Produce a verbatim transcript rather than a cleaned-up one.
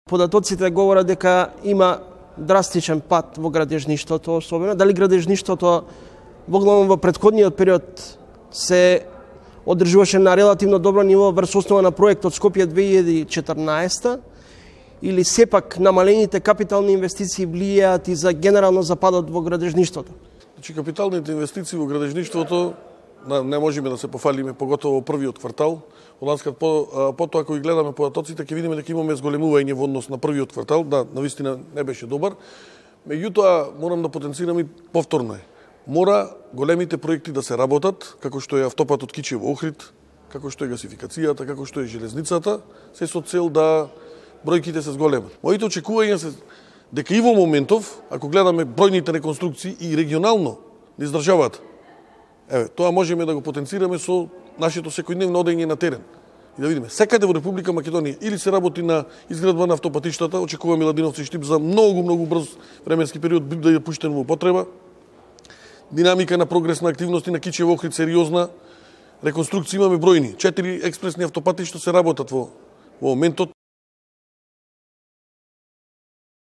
Податоците говорат дека има драстичен пат во градежништвото, особено дали градежништвото во главно во претходниот период се одржуваше на релативно добро ниво врз основа на проектот Скопје две илјади и четрнаесета, или сепак намалените капитални инвестиции влијаат и за генерално западот во градежништвото? Значи, капиталните инвестиции во градежништвото не можеме да се пофалиме, поготово во првиот квартал. Ланскат по, потоа ако ги гледаме податоците, ќе видиме дека имаме зголемување во однос на првиот квартал. Да, навистина не беше добар. Меѓутоа, морам да потенцирам и повторно е. Мора големите проекти да се работат, како што е автопатот Кичево-Охрид, како што е гасификацијата, како што е железницата, се со цел да бројките се зголемат. Моите очекувања се дека и во моментов, ако гледаме бројните реконструкции и регионално не издржаваат. Еве, тоа можеме да го потенцираме со нашето секојдневно одење на терен. И да видиме, секаде во Република Македонија или се работи на изградба на автопатиштата, очекуваме Ладиновци Штип за многу, многу брз временски период да ја пуштен во употреба. Динамика на прогрес на активности на Кичево-Охрид сериозна. Реконструкција имаме бројни. Четири експресни автопатишта се работат во, во моментот.